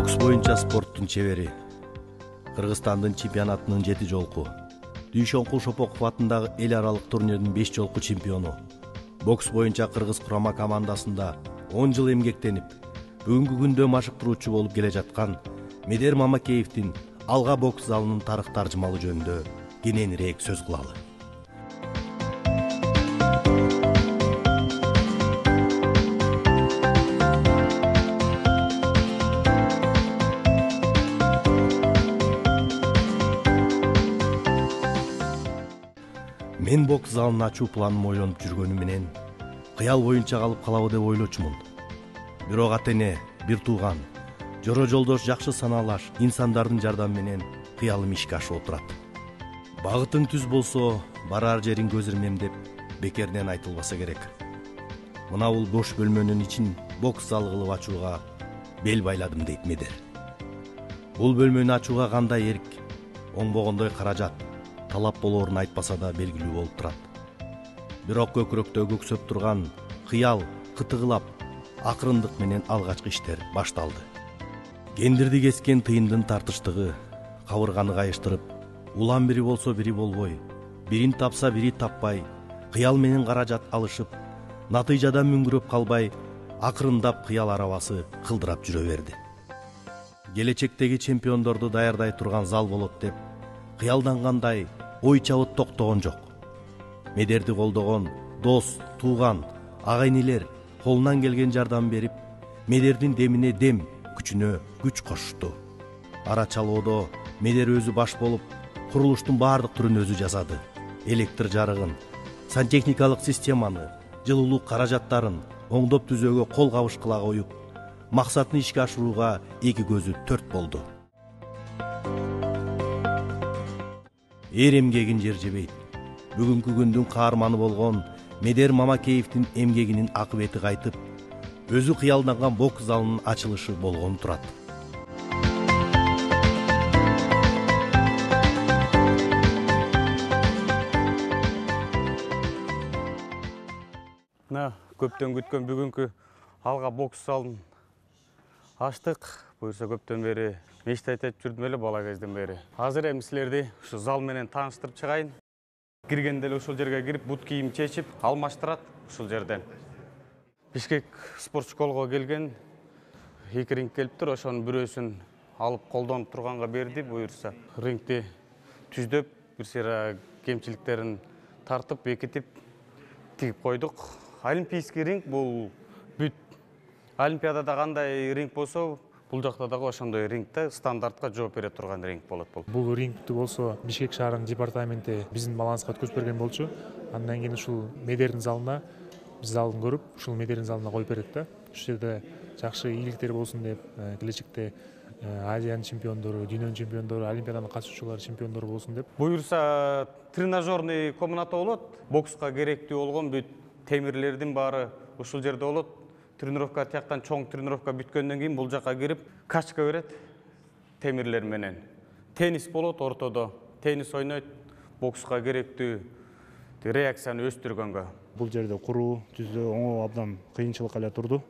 Бокс боюнча спорттун чебери. Кыргызстандын чемпионатынын 7 жолку. Дүйшөнкул Шопоков атындагы эл аралык турнирдин 5 жолку чемпиону. Бокс боюнча кыргыз курама командасында 10 жыл эмгектенип, бүгүнкү күндө машыктыруучу болуп келе жаткан Медер Мамакеевдин алга бокс залынын тарых таржымалы жөнүндө кененирээк сөз кылалы. Мен бокс залын ачуу планым ойлонуп жүргөнүм менен кыял боюнча калып калабы деп ойлочумун. Бирок ата-эне, бир тууган, жора жолдош, жакшы санаалаш инсандардын жардамы менен кыялым ишке ашып отурат. Багытың түз болсо, барар жериң көз ирмем деп бекеринен айтылбаса керек. Мына бул бош бөлмөнүн ичин бокс залы кылып ачууга бел байладым дейт Медер. Бул бөлмөнү ачууга кандай эрк, оңбогондой каражат талап болоорун айтпаса да белгилүү болуп турат. Бирок көкүрөктө көксөп турган кыял кытыгылап, акырындык менен алгачкы иштер башталды. Кендирди кескен тыйындын тартыштыгы, кабырганы кайыштырып, улам бири болсо бири болбой, бирин тапса бири таппай, кыял менен каражат алышып, натыйжадан мүңгүрөп калбай, акырындап кыял арабасы кылдырап жүрө берди. Келечектеги чемпиондорду даярдай турган зал болот деп кыялдангандай ой чабыт токтогон жок. Медерди колдогон дос, тууган, ага-инилер колунан келген жардам берип, Медердин демине дем, күчүнө күч кошушту. Ара чалоодо Медер өзү баш болуп, курулуштун баардык түрүн өзү жасады. Электр жарыгын, сантехникалык системаны, жылуулук каражаттарын оңдоп түзөөгө кол кабыш кыла коюп, максатын ишке ашырууга эки көзү төрт болду. Эр эмгегин жер жебейт. Бүгүнкү күндүн каарманы болгон Медер Мамакеевдин эмгегинин акыбети кайтып, өзү кыялданган бокс залынын ачылышы болгону турат. Көптөн күткөн бүгүнкү алга бокс залын ачтык. Буюрса көптөн бери мечта айтып жүрдүм эле бала кезден бери. Азыр эми силерди ушу зал менен тааныштырып чыгайын. Киргенде эле ушул жерге кирип, бут кийим чечип, алмаштырат ушул жерден. Бишкек спорт школго келген, 2 ринг келиптир, ошонун бирөөсүн алып колдонуп турганга берди. Буюрса рингти түздөп, бир сыйра кемчиликтерин тартып, бекитип, тигип койдук. Олимпийский ринг бул бүт. Олимпиадада кандай ринг болсо, бул жакта дагы ошондой рингте стандартка жооп бере турган ринг болот бул. Бул рингти болсо Бишкек шаарынын департаменти биздин баланска өткөзүп берген болчу. Андан кийин ушул Медердин залына, биз залын көрүп, ушул Медердин залына коюп берет да. Ушул жерде жакшы ийгиликтер болсун деп, келечекте Азиянын чемпиондору, дүйнөнүн чемпиондору, Олимпиаданын катышуучулары чемпиондору болсун деп. Буюрса тренажерный комната болот. Бокска керектүү болгон бүт темирлердин баары ушул жерде болот. Тренировка тияктан чоң тренировка бүткөндөн кийин бул жакка кирип, качка берет темирлер менен. Теннис болот ортодо. Теннис ойнойт, бокска керектүү реакцияны өстүргөнгө. Бул жерде куруу, түздөө оңоо абдан кыйынчылык эле турду.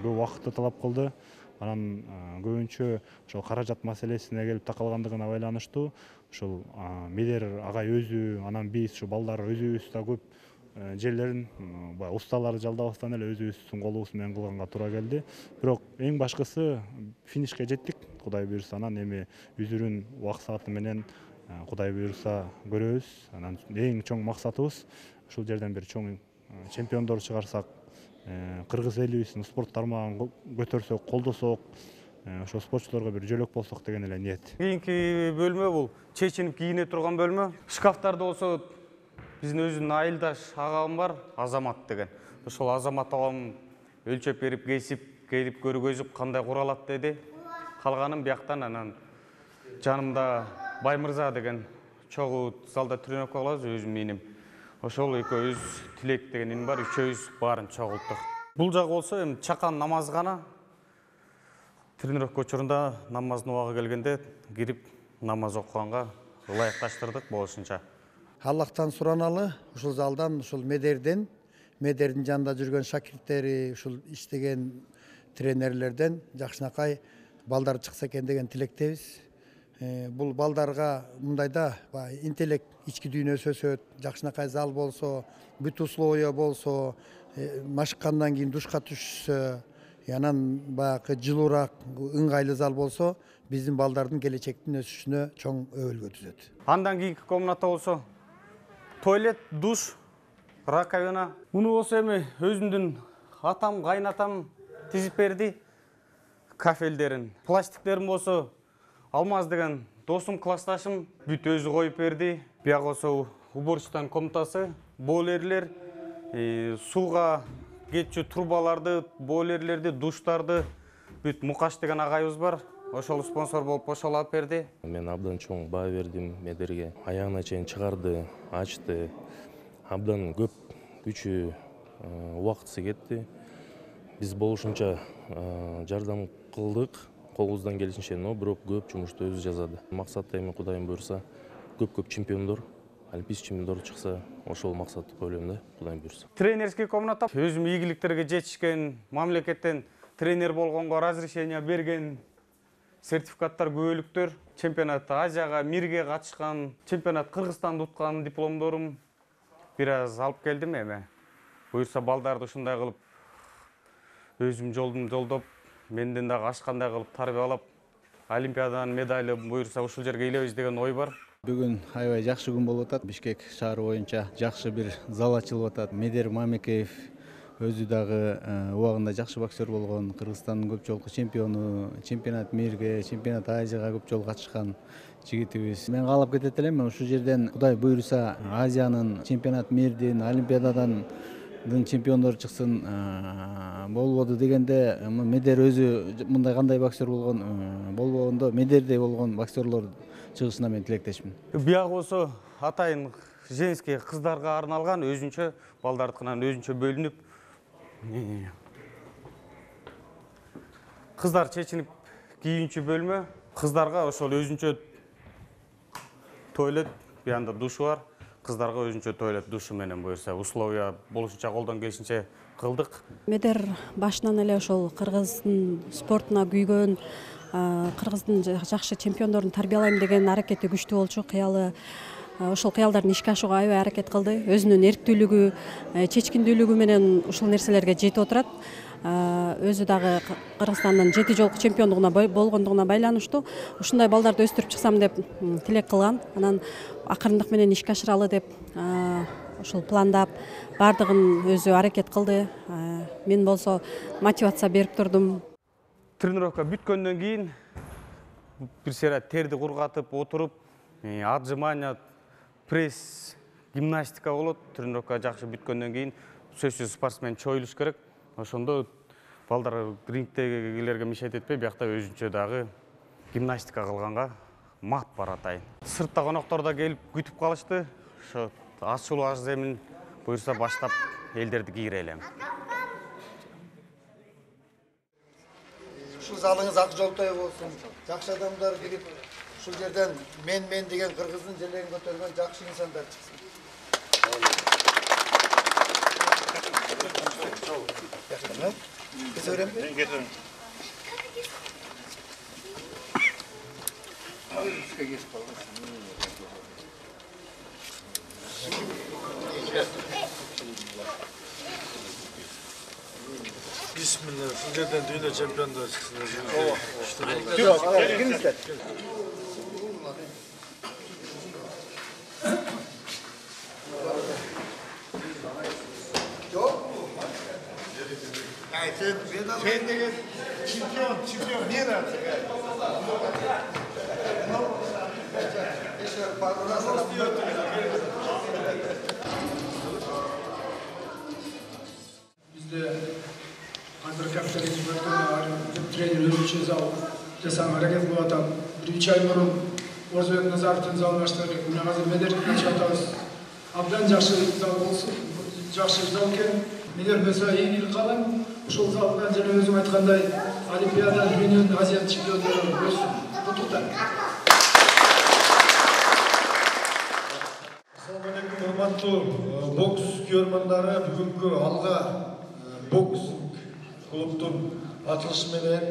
Көп убакытты талап кылды. Анан көбүнчө ошол каражат маселесине келип такалгандыгына байланыштуу. Ушул Медер агай өзү, анан биз ушу балдар өзүбүз да көп жерлерин усталарды жалдабастан эле өзүбүздүн колубуз менен кылганга туура келди. Бирок эң башкысы финишке жеттик. Кудай буйрса, анан эми үзүрүн убак сааты менен Кудай буйрса көрөбүз. Анан эң чоң максатыбыз ушул жерден бир чоң чемпиондор чыгарсак, кыргыз элибиздин спорт тармагын көтөрсөк, колдосок, ошо спортчуларга бир жөлөк болсок деген эле ниет. Кийинки бөлмө бул чечинип кийине турган бөлмө. Шкафтарда болсо биздин өзүнүн айылдаш агам бар, Азамат деген. Ошол Азамат агам өлчөп берип, кесип, келип көргөзүп, кандай куралат деди. Калганын бияктан анан жанымда Баймырза деген чогуу залда тренировка кылабыз, өзүм иним. Ошол экөөбүз Тилек деген иним бар, үчөөбүз баарын чогулттук. Бул жагы болсо эми чакан намазгана. Тренировка учурунда намаздын убагы келгенде кирип намаз окуганга ылайыкташтырдык болушунча. Аллахтан сураналы, ушул залдан, ушул Медердин жанында жүргөн шакирттери, ушул иштеген тренерлерден жакшынакай балдар чыкса экен деген тилектебиз. Бул балдарга мындайда интеллект, ички дүйнөсү өсөт, жакшынакай зал болсо, бүт условия болсо, машыккандан кийин душка түшсө, анан баягы жылуураак, ыңгайлуу зал болсо, биздин балдардын келечектин өсүшүнө чоң өбөлгө түзөт. Андан кийинки комната болсо туалет, душ, раковина. Муну болсо эми өзүмдүн атам, кайнатам тизип берди. Кафелдерин, пластиктерин болсо Алмаз деген досум, классташым бүт өзү коюп берди. Бияк болсо уборочтан комнатасы, бойлерлер, сууга кетчү трубаларды, бойлерлерди, душтарды бүт Мукаш деген агайыбыз бар. Ошол спонсор болуп ошол алып берди. Мен абдан чоң баа бердим Медерге. Аягына чейин чыгарды, ачты. Абдан көп күчү, убактысы кетти. Биз болушунча жардам кылдык, колубуздан келишинче, но бирок көп жумушту өзү жазады. Максат эми Кудайым буйрса, көп чемпиондор, олимпийский чемпиондор чыкса, ошол максатты койлойм да, Кудайым буйрса. Тренерский комната, өзүм ийгиликтерге жетишкен, мамлекеттен тренер болгонго разрешение берген, сертификаттар, күбөлүктөр, чемпионат Азияга, мирге катышкан, чемпионат Кыргызстанды уткан дипломдорум бир аз алып келдим эми. Буйрса балдарды ушундай кылып өзүм жолдум жолдоп, менден дагы ашкандай кылып тарбиялап, олимпиаданын медали буйрса ушул жерге илебиз деген ой бар. Бүгүн аябай жакшы күн болуп атат. Бишкек шаары боюнча жакшы бир зал ачылып атат. Медер Мамекеев өзү дагы убагында жакшы боксер болгон, Кыргызстандын көп жолку чемпиону, чемпионат мирге, чемпионат Азияга көп жолу катышкан жигитибиз. Мен каалап кетет элем, ушул жерден Кудай буйрса Азиянын, чемпионат мирдин, олимпиададан чемпиондор чыксын болбоду дегенде, Медер өзү мындай кандай боксер болгон болбогондо, Медердей болгон боксерлор чыгышына мен тилектешмин. Бияк болсо атайын женский кыздарга арналган, өзүнчө балдардыкынан өзүнчө бөлүнүп, кыздар чечинип кийинчү бөлмө, кыздарга ошол өзүнчө туалет, буянда душу бар. Кыздарга өзүнчө туалет, душу менен буйрса условия болушунча колдон келишинче кылдык. Медер башынан эле ошол кыргыздын спортуна күйгөн, кыргыздын жакшы чемпиондорун тарбиялайм деген аракети күчтүү болчу. Кыялы ошол кыялдарын ишке ашууга аябай аракет кылды. Өзүнүн эрктүүлүгү, чечкиндүүлүгү менен ушул нерселерге жетип отурат. Өзү дагы Кыргызстандын 7 жолку чемпиондугуна болгондугуна байланыштуу ушундай балдарды өстүрүп чыксам деп тилек кылган. Анан акырындык менен ишке ашыралы деп ошол пландап, бардыгын өзү аракет кылды. Мен болсо мотивация берип турдум. Тренировка бүткөндөн кийин бир сыйра терди кургатып отуруп, отжимания, пресс, гимнастика болот. Тренировка жакшы бүткөндөн кийин сөзсүз спортсмен чоюлуш керек. Ошондо балдар рингдегилерге мешайт этпей, биякта өзүнчө дагы гимнастика кылганга мат бар атайын. Сыртта коноктор да келип күтүп калышты. Ошо ачылуу аш земин буйрса баштап элдерди кийире элем. Ушул залыңыз ак жолтой болсун. Жакшы адамдар кирип, ушул жерден мен деген кыргыздын желегин көтөргөн жакшы инсандар чыксын. Keserim. Keserim. Bismillah. Sizlerden dünya çempiyonlar çıksın. Kim ister? Sen de çempiyon niye artık? Bizde hazır kapitali trener özünчө зал жасаң аракет кылып атам. 1-3 ай мурун Орзбек Назаровдун залын аштык. Мына азыр Медердин ачып атабыз. Абдан жакшы зал болсун. Жакшы зал экен. Медер болсо ийгилик каалайм. Ушул залдан жана өзүм айткандай Олимпиада, дүйнөнүн Азия чемпиондору өссүн. Куттуктайм. Assalamu alaikum, урматтуу бокс көрмөндөрү. Бүгүнкү алга бокс клубтун ачылышы менен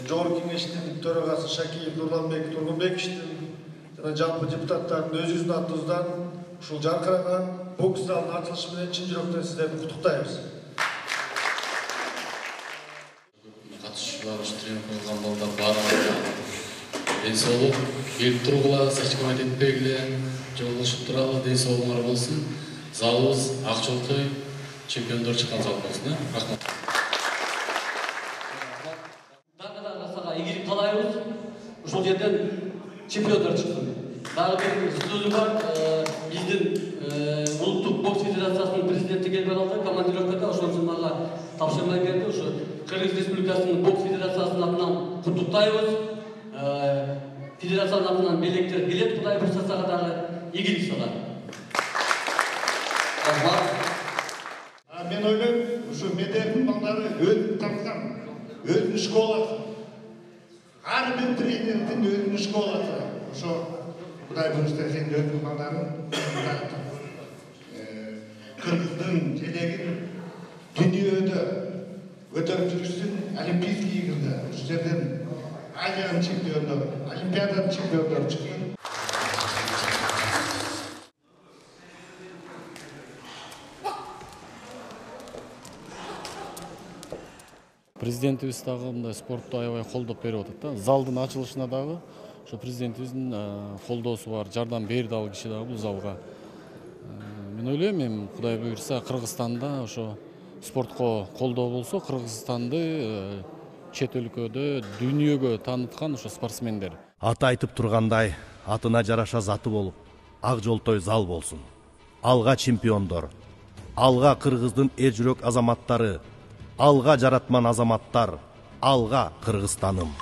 жогорку кеңештин төрагасы Шакиев Нурланбек Тургунбековичтин жана жалпы депутаттардын өзүбүздүн атыбыздан ушул жаркыраган бокс залынын ачылышы менен чын жүрөктөн сиздерди куттуктайбыз. Катышуулар, тренинг кылган балдар баарына ден соолук, келип тургула, сачкабайт этпегиле, жолдошуп туралы, ден соолугуңар болсун. Залыбыз ак жолтой чемпиондор чыккан зал болсун. Рахмат. Дагы расага ийгилик каалайбыз. Ушул жерден чемпиондор чыксын. Дагы бир сөзүм бар. Биздин улуттук бокс федерациясынын президенти келип алды, командировкада ошон үчүн мага тапшырма берди. Ошо Кыргыз Республикасынын бокс федерациясынын атынан куттуктайбыз. Федерациянын атынан белектер келет, Кудай буйрса дагы ийгилик салат. Мен ойлойм, ушу медердин балдары өзүн тапкан, өзүнүн школасы. Ар бир тренердин өзүнүн школасы. Ошо Кудай буйрса сен өзүнүн балдарын Кыргыздын желегин дүйнөдө көтөрүп жүрүшсүн, олимпийский игрде, ушул жерден Азиянын чемпиондору, Олимпиаданын чемпиондору чыксын. Президентибиз дагы мындай спортту аябай колдоп берип атат да. Залдын ачылышына дагы ошо президентибиздин колдоосу бар, жардам берди ал киши дагы бул залга. Мен ойлойм, эми Кудай буйрса Кыргызстанда ошо спортко колдоо болсо, Кыргызстанды чет өлкөдө, дүйнөгө тааныткан ошо спортсмендер. Аты айтып тургандай, атына жараша заты болуп, ак жолтой зал болсун. Алга чемпиондор, алга Кыргыздын эл жүрөк азаматтары, алга жаратман азаматтар, алга Кыргызстаным.